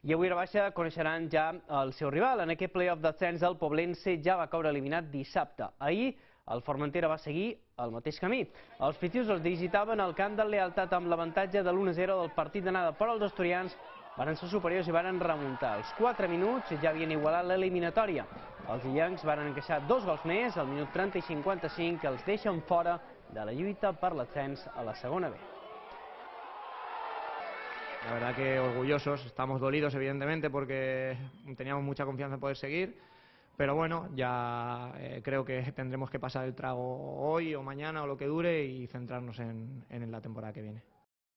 I avui a la baixa coneixeran ja el seu rival. En aquest play-off d'ascens el Poblense ja va caure eliminat dissabte. Ahir el Formentera va seguir el mateix camí. Els fitius els digitaven al camp del Lealtat amb l'avantatge de l'1-0 del partit d'anada, però els asturians van ser superiors i van remuntar. Als 4 minuts ja havien igualat l'eliminatòria. Els illencs van encaixar 2 gols més al minut 30 i 55 que els deixen fora de la lluita per l'ascens a la segona B. La verdad que orgullosos, estamos dolidos evidentemente porque teníamos mucha confianza en poder seguir, pero bueno, ya creo que tendremos que pasar el trago hoy o mañana o lo que dure y centrarnos en la temporada que viene.